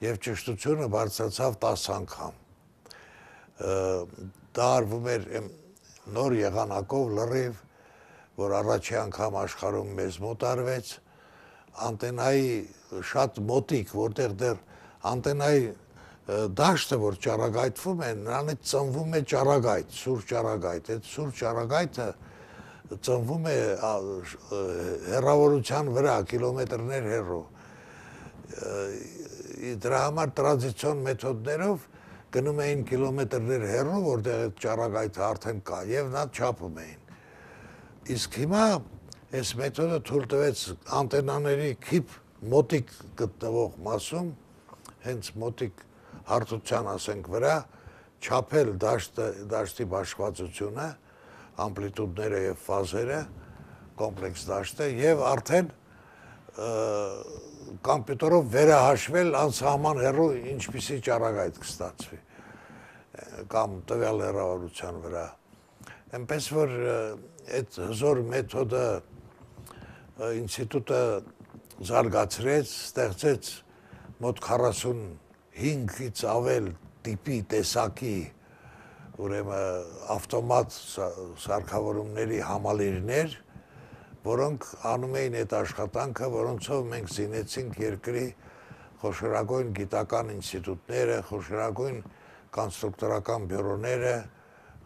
եւ ճշտությունը բարձրացավ տասը անգամ։ Դա արվում էր նոր եղանակով լրիվ, որ առաջի անգամ աշխարհում մեզ մոտ արվեց, անտենայի շատ մոտիկ, որտեղ դեռ անտենայի դաշտը, որ ճառագայթվում է, նրանից ծնվում է ճառագայթ, սուր ճառագայթ, այդ սուր ճառագայթը ծնվում է հեռավորության վրա, կիլոմետրներ հեռու։ Դրա համար տրադիցիոն մեթոդներով գնում էին կիլոմետրներ հեռու, որտեղ այդ ճառագայթը արդեն կա, եւ նա չափում էին։ Իսկ հիմա այս մեթոդը թույլ տվեց անտենաների քիփ մոտիկ գտնվող մասում, հենց մոտիկ հարթության, ասենք, վրա չափել դաշտի բաշխվածությունը, ամպլիտուդները եւ ֆազերը, կոմպլեքս դաշտը եւ արդեն կոմպյուտերով վերահաշվել անսահման հեռու ինչպիսի ճառագայթ կստացվի կամ տվյալ հեռավորության վրա։ Այնպես որ այդ հզոր մեթոդը ինստիտուտը զարգացրեց, ստեղծեց մոտ քառասունհինգից ավել տիպի տեսակի ուրեմն ավտոմատ սարքավորումների համալիրներ, որոնք անում էին այդ աշխատանքը, որոնցով մենք զինեցինք երկրի խոշորագույն գիտական ինստիտուտները, խոշորագույն կոնստրուկտորական բյուրոները,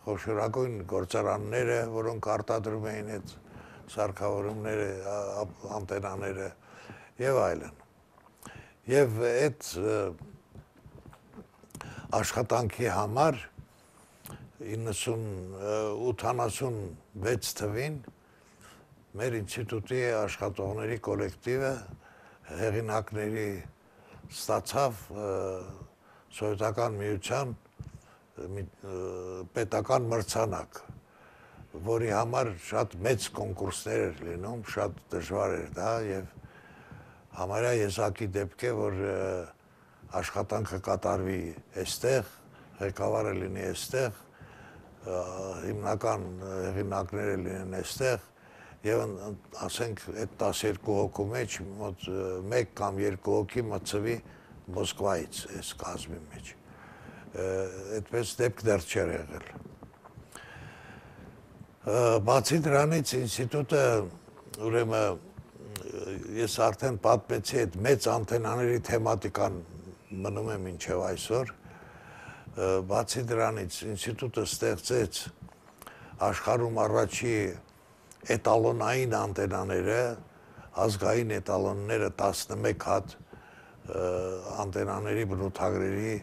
խոշորագույն գործարանները, որոնք արտադրում էին այդ սարքավորումները, անտենաները եւ այլն։ Եվ այդ աշխատանքի համար ութանասունվեց թվին մեր ինստիտուտի աշխատողների կոլեկտիվը հեղինակների ստացավ Սովետական միության պետական մրցանակ, որի համար շատ մեծ կոնկուրսներ էր լինում, շատ դժվար էր դա եւ համարյա եզակի դեպք է, որ աշխատանքը կատարվի այստեղ, ղեկավարը լինի այստեղ, հիմնական հեղինակները լինեն այստեղ եւ ասենք այդ տասներկու հոգու մեջ մոտ մեկ կամ երկու հոգի մտցվի Մոսկվայից այս կազմի մեջ։ Այդպես դեպք դեռ չէր եղել։ Բացի դրանից ինստիտուտը ուրեմն ես արդեն պատմեցի այդ մեծ անտենաների թեմատիկան մնում է մինչև այսօր։ Բացի դրանից ինստիտուտը ստեղծեց աշխարհում առաջի էտալոնային անտենաները, ազգային էտալոնները տասնմեկ հատ անտենաների բնութագրերի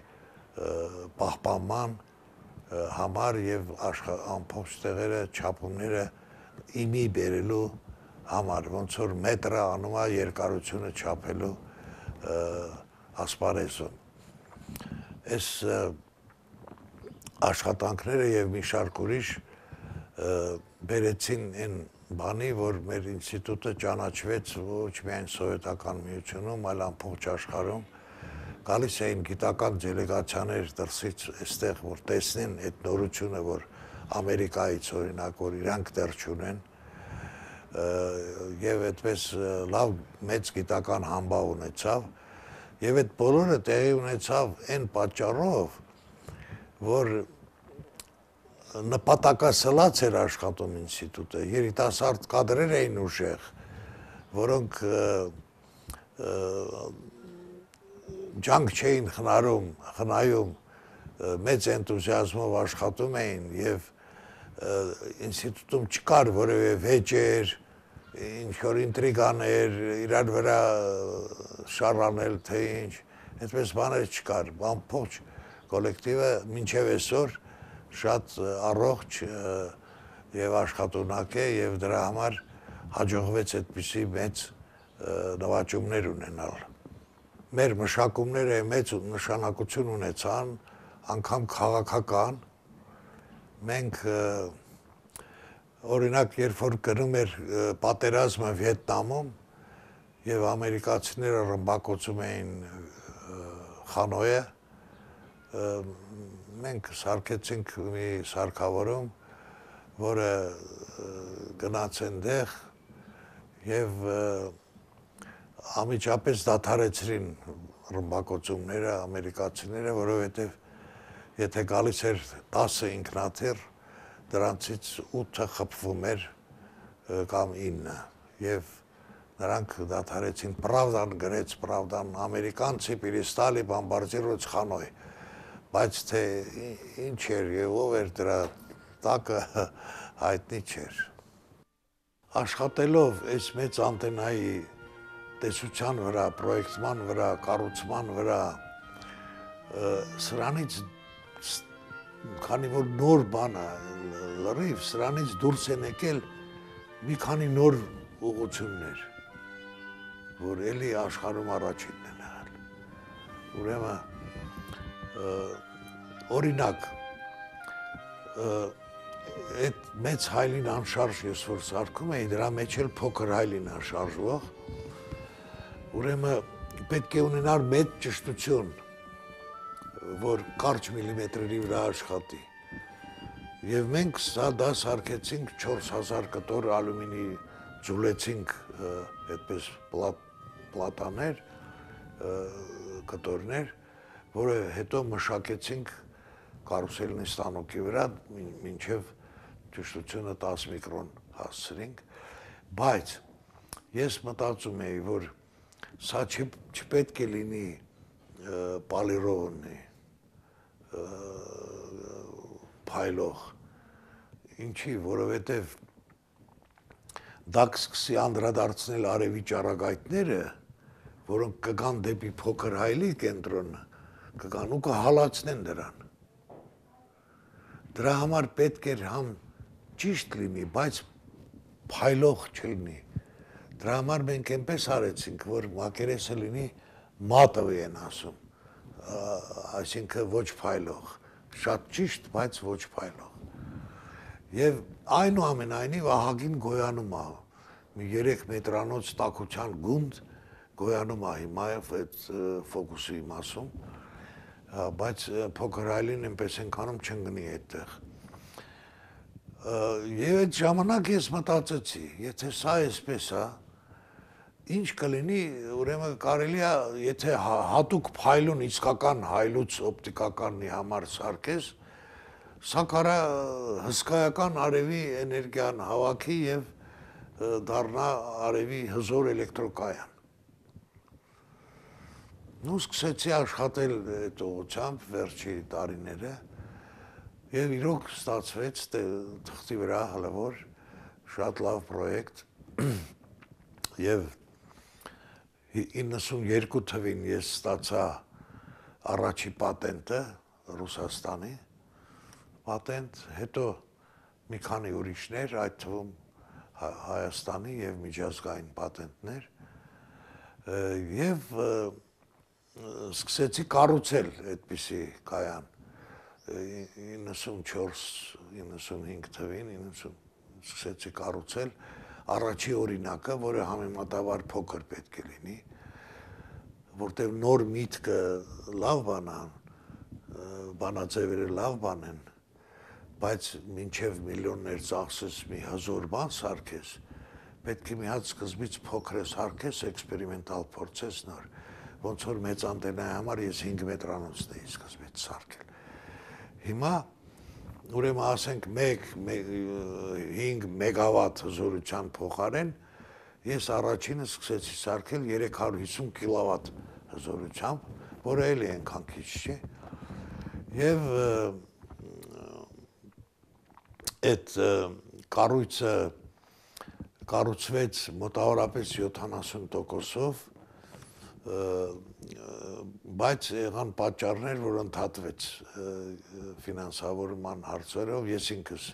պահպանման համար եւ ամբողջ տեղերը չափումները իմի բերելու համար, ոնց որ մետրը անում է երկարությունը չափելու ասպարեզում։ Այս աշխատանքները եւ մի շարք ուրիշ բերեցին այն բանի, որ մեր ինստիտուտը ճանաչվեց ոչ միայն Սովետական միությունում, այլ ամբողջ աշխարհում։ Գալիս էին գիտական դելեգացիաներ դրսից այստեղ, որ տեսնեն այդ նորությունը, որ Ամերիկայից օրինակ, որ իրանք դեռ չունեն, եւ այդպես լավ մեծ գիտական համբավ ունեցավ, եւ այդ բոլորը տեղի ունեցավ այն պատճառով, որ նպատակասլաց էր աշխատում ինստիտուտը, երիտասարդ կադրեր էին ուժեղ, որոնք ջանք չէին խնայում, խնայում մեծ էնտուզիազմով աշխատում էին եւ ինստիտուտում չկար որևէ վեճեր, ինչ-որ ինտրիգաներ, իրար վրա շարանել, թե ինչ, այդպես բաներ չկար, ամբողջ կոլեկտիվը մինչև այսօր շատ առողջ եւ աշխատունակ է եւ դրա համար հաջողվեց այդպիսի մեծ նվաճումներ ունենալ։ Մեր մշակումները մեծ նշանակություն ունեցան, անգամ քաղաքական։ Մենք օրինակ, երբ որ գնում էր պատերազմը Վիետնամում եւ ամերիկացիները ռմբակոծում էին Խանոյը, մենք սարքեցինք մի սարքավորում, որը գնաց այնտեղ եւ ամիջապես դադարեցրին ռմբակոծումները ամերիկացիները, որովհետեւ եթե գալիս էր տասը ինքնաթիռ, դրանցից ութը խփվում էր կամ ինը եւ նրանք դադարեցին Pravdan գրեց Pravdan ամերիկանցի перестали бомбардировать Ханой բայց թե ինչ էր եւ ով էր դրա տակը հայտնի չէր աշխատելով այս մեծ անտենայի տեսության վրա պրոյեկտման վրա կառուցման վրա սրանից քանի որ նոր բան է լրիվ սրանից դուրս են եկել մի քանի նոր ուղղություններ որ էլի աշխարհում առաջինն են եղել ուրեմն օրինակ այդ մեծ հայլին անշարժ ես որ սարքում էի դրա մեջ էլ փոքր հայլին է շարժվող ուրեմն պետք է ունենալ մեծ ճշտություն որ կարճ միլիմետրերի վրա աշխատի եւ մենք սա դա սարքեցինք չորս հազար կտոր ալյումինի ձուլեցինք այդպես պլատաներ կտորներ որը հետո մշակեցինք կարուսելնի ստանոկի վրա մինչև ճշտությունը տասը միկրոն հասցրինք բայց ես մտածում էի որ սա չպետք է լինի պալիրովնի փայլող ինչի որովհետև դա կսկսի անդրադարձնել արևի ճառագայթները որոնք կգան դեպի փոքր հայլի կենտրոնը կգան ու կհալածնեն դրան դրա համար պետք էր համ ճիշտ լինի բայց փայլող չլինի դրա համար մենք այնպես արեցինք որ մակերեսը լինի մատովի են ասում այսինքն ոչ փայլող շատ ճիշտ բայց ոչ փայլող եւ այնուամենայնիվ ահագին գոյանում է մի երեք մետրանոց տաքության գունդ գոյանում է հիմա այդ ֆոկուսի մասում բայց փոքր հայլին այնպես ենքանում չընկնի այդտեղ եւ այդ ժամանակ ես մտածեցի եթե սա էսպես է ինչ կլինի ուրեմն կարելի է եթե հատուկ փայլուն իսկական հայլուց օպտիկականի համար սարքես սա կարա հսկայական արևի էներգիան հավաքի եւ դառնա արևի հզոր էլեկտրոկայան նու սկսեցի աշխատել այդ ուղղությամբ վերջի տարիները եւ իրոք ստացվեց թղթի վրա հլավոր շատ լավ պրոյեկտ եւ իննսունյերկու թվին ես ստացա առաջի պատենտը Ռուսաստանի պատենտ, հետո մի քանի ուրիշներ, այդ թվում Հայաստանի եւ միջազգային պատենտներ եւ սկսեցի կառուցել այդպիսի կայան իննսունչորս իննսունհինգ թվին սկսեցի կառուցել առաջի օրինակը, որը համեմատաբար փոքր պետք է լինի, որտեղ նոր միտքը լավ բան է, բանաձևերը լավ բան են, բայց մինչև միլիոններ ծախսես մի հզոր բան սարքես, պետք է մի հատ սկզբից փոքր սարքես, էքսպերիմենտալ փորձես նոր, ոնց որ մեծ անտենայի համար ես հինգ մետրանոցն էի սկզբից սարքել։ Հիմա ուրեմն ասենք հինգ մեգավատ հզորության փոխարեն ես առաջինը սկսեցի սարքել երեք հարյուր հիսուն կիլովատ հզորությամբ, որը էլի այնքան քիչ չէ։ Եվ այդ կառույցը կառուցվեց մոտավորապես յոթանասուն տոկոսով, բայց եղան պատճառներ, որ ընդհատվեց ֆինանսավորման հարցերով, ես ինքս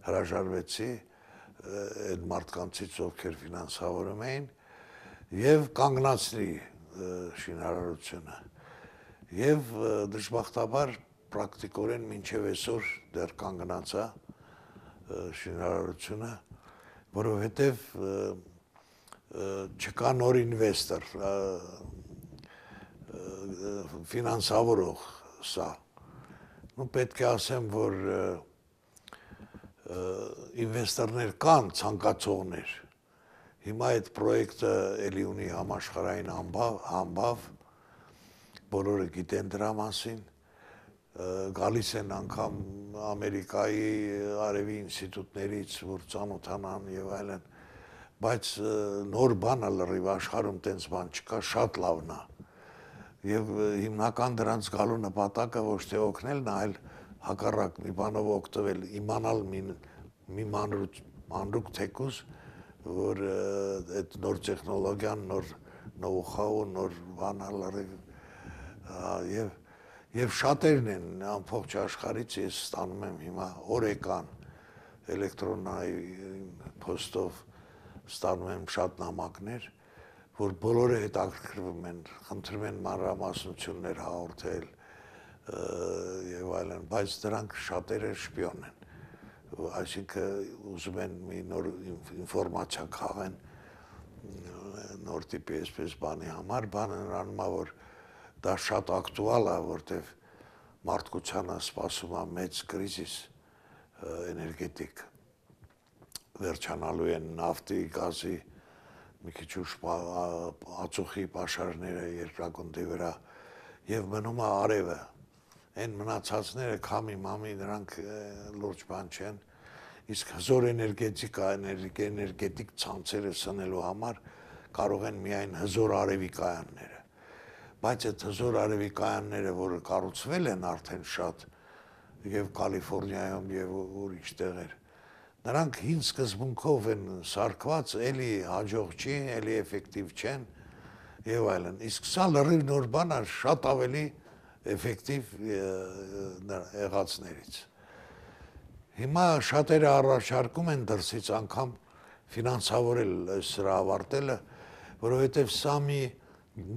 հրաժարվեցի այդ մարդկանցից, ովքեր ֆինանսավորում էին, եւ կանգնացրի շինարարությունը։ Եվ դժբախտաբար պրակտիկորեն մինչև այսօր դեռ կանգնած է շինարարությունը, որովհետև չկա նոր ինվեստոր, ֆինանսավորող սա։ Նու պետք է ասեմ, որ ինվեստորներ կան, ցանկացողներ։ Հիմա այդ պրոյեկտը էլի ունի համաշխարհային համբավ, բոլորը գիտեն դրա մասին, գալիս են անգամ Ամերիկայի արևի ինստիտուտներից, որ ծանոթանան եւ այլն, բայց նոր բանը լրիվ աշխարհում տենց բան չկա, շատ լավն է։ Եվ հիմնական դրանց գալու նպատակը ոչ թե օգնելն է, այլ հակառակ մի բանով օգտվել, իմանալ մի մի մանրուք թեկուզ, որ այդ նոր տեխնոլոգիան, նոր նոու-հաու, նոր բանը լրիվ եւ եւ շատերն են ամբողջ աշխարհից ես ստանում եմ հիմա օրեկան էլեկտրոնային փոստով ստանում եմ շատ նամակներ, որ բոլորը հետաքրքրվում են, խնդրում են մանրամասնություններ հաղորդել եւ այլն, բայց դրանք շատերը շպիոն են, այսինքն ուզում են մի նոր ինֆորմացիա քաղեն, նոր տիպի այսպես բանի համար, բանը նրանում է, որ դա շատ ակտուալ է, որտեվ մարդկությանը սպասում է մեծ կրիզիս էներգետիկ, վերջանալու են նավթի, գազի, մի քիչ ուշ ածուխի պաշարները երկրագնդի վրա եւ մնում է արևը, այն մնացածները քամի մամի նրանք լուրջ բան չեն, իսկ հզոր էներգետիկա, էներգետիկ ցանցերը սնելու համար կարող են միայն հզոր արևի կայանները, բայց այդ հզոր արևի կայանները, որը կառուցվել են արդեն շատ եւ Կալիֆոռնիայում եւ ուրիշ տեղեր, նրանք հին սկզբունքով են սարքված, էլի հաջող չի, էլի էֆեկտիվ չեն եւ այլն։ Իսկ սա լրիվ նոր բան է, շատ ավելի էֆեկտիվ եղածներից։ Հիմա շատերը առաջարկում են դրսից անգամ ֆինանսավորել սրա ավարտելը, որովհետեւ սա մի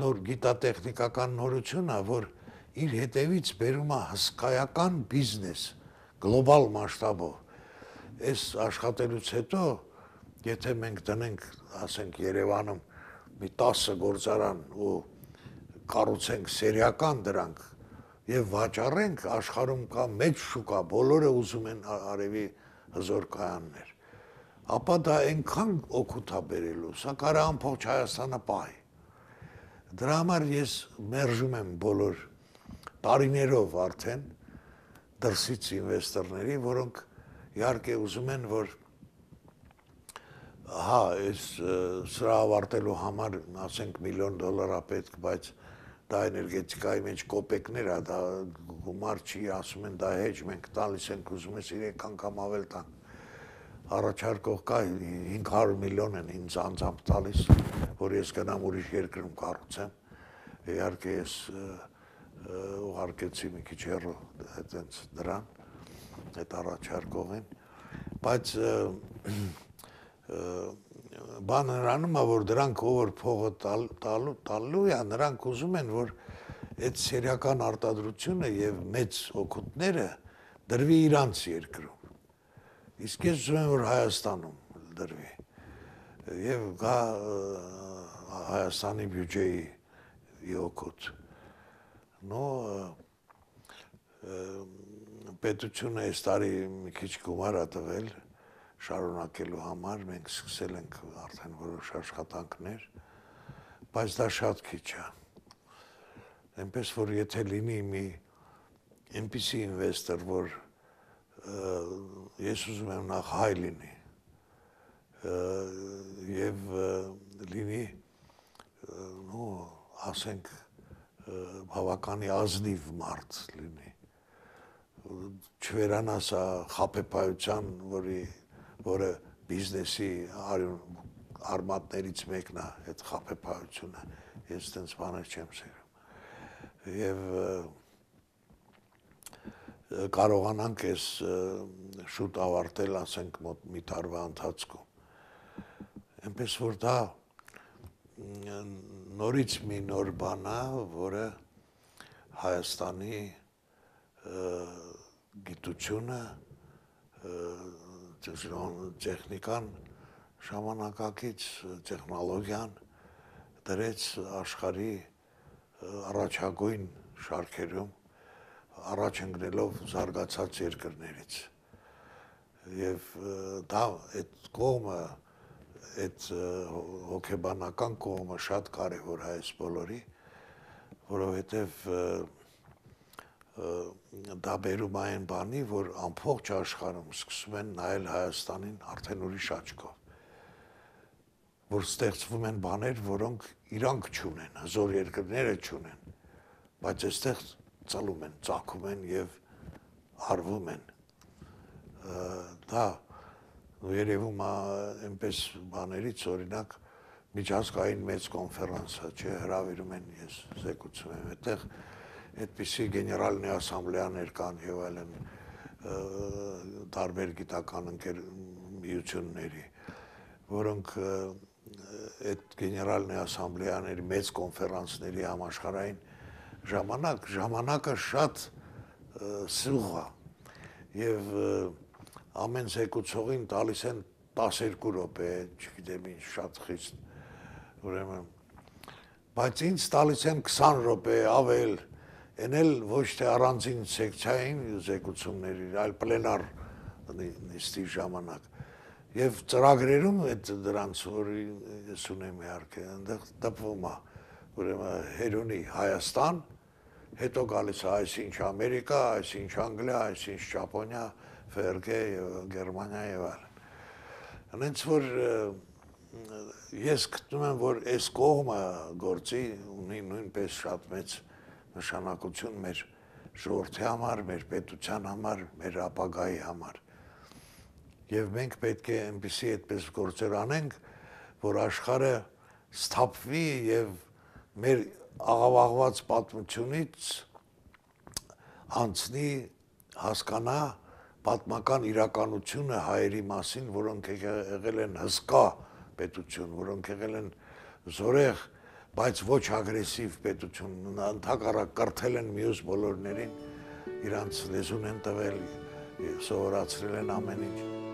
նոր գիտատեխնիկական նորություն է, որ իր հետևից բերում է հսկայական բիզնես, գլոբալ մասշտաբով։ Այս աշխատելուց հետո, եթե մենք դնենք, ասենք Երևանում մի տասը գործարան ու կառուցենք սերիական դրանք եւ վաճառենք, աշխարհում կա մեծ շուկա, բոլորը ուզում են արևի հզոր կայաններ։ Ապա դա այնքան օգուտ է բերելու, սա կարա ամբողջ Հայաստանը պահի։ Դրա համար ես մերժում եմ բոլոր տարիներով արդեն դրսից ինվեստորների, որոնք իհարկե ուզում են, որ հա, այս սրա ավարտելու համար, ասենք, միլիոն դոլար է պետք, բայց դա էներգետիկայի մեջ կոպեկներ է, դա գումար չի, ասում են դա հեչ, մենք տալիս ենք, ուզում ես երեք անգամ ավել տան։ Առաջարկող կա հինգ հարյուր միլիոն են ինձ անձամբ տալիս, որ ես գնամ ուրիշ երկրում կառուցեմ, իհարկե ես ուղարկեցի մի քիչ հեռու այդպես դրան, այդ առաջարկողին, բայց բանը նրանում է, որ դրանք ով փողը տալու է, նրանք ուզում են, որ այդ սերիական արտադրությունը եւ մեծ օգուտները դրվի իրանց երկրում։ Իսկ ես ուզում եմ, որ Հայաստանում դրվի եւ գա Հայաստանի բյուջեի օգուտ։ Նո պետությունը այս տարի մի քիչ գումար է տվել շարունակելու համար, մենք սկսել ենք արդեն որոշ աշխատանքներ, բայց դա շատ քիչ է։ Այնպես որ եթե լինի մի այնպիսի ինվեստոր, որ ես ուզում եմ նախ հայ լինի եւ լինի, նո, ասենք, բավականի ազնիվ մարդ լինի, չվերանա սա խաբեբայության, որի որը բիզնեսի արմատներից մեկն է, այդ խաբեբայությունը, ես տենց բաներ չեմ սիրում։ Եվ կարողանանք այս շուտ ավարտել, ասենք, մոտ մի տարվա ընթացքում։ Այնպես որ դա նորից մի նոր բան է, որը Հայաստանի գիտությունը, տեխնիկան, ժամանակակից տեխնոլոգիան դրեց աշխարհի առաջագույն շարքերում, առաջ ընկնելով զարգացած երկրներից։ Եվ դա այդ կողմը, այդ հոգեբանական կողմը շատ կարևոր է այս բոլորի, որովհետև դա բերում այն բանի, որ ամբողջ աշխարհում սկսում են նայել Հայաստանին արդեն ուրիշ աչքով։ որ ստեղծվում են բաներ, որոնք իրանք չունեն, հզոր երկրները չունեն, բայց այստեղ ծլում են, ծագում են եւ արվում են։ Դա երևում է այնպես բաներից, օրինակ միջազգային մեծ կոնֆերանսը, չէ, հրավիրում են, ես զեկուցում եմ, այդտեղ այդպիսի գեներալնի ասամբլեաներ կան եւ այլն տարբեր գիտական միությունների, որոնք այդ գեներալնի ասամբլեաների մեծ կոնֆերանսների համաշխարհային ժամանակ, ժամանակը շատ սուղ է եւ ամեն զեկուցողին տալիս են տասներկու րոպե, չգիտեմ ինչ, շատ խիստ, ուրեմն, բայց ինձ տալիս են քսան րոպե ավել, այն էլ ոչ թե առանձին սեկցիային զեկուցումների, այլ պլենար նիստի ժամանակ։ Եվ ծրագրերում այդ դրանց, որ ես ունեմ իհարկե, այնտեղ տպվում է, ուրեմն Հերոնի Հայաստան, հետո գալիս է այսինչ Ամերիկա, այսինչ Անգլիա, այսինչ Ճապոնիա, Ֆերգե եւ Գերմանիա եւ այլն։ Հենց որ ես գտնում եմ, որ այս կողմը գործի ունի նույնպես շատ մեծ նշանակություն մեր ժողովրդի համար, մեր պետության համար, մեր ապագայի համար։ Եվ մենք պետք է այնպիսի այդպես գործեր անենք, որ աշխարհը սթափվի եւ մեր աղավաղված պատմությունից անցնի, հասկանա պատմական իրականությունը հայերի մասին, որոնք եղել են հսկա պետություն, որոնք եղել են զորեղ, բայց ոչ ագրեսիվ պետություն, ընդհակառակ կրթել են մյուս բոլորներին, իրանց լեզուն են տվել, սովորացրել են ամեն ինչ։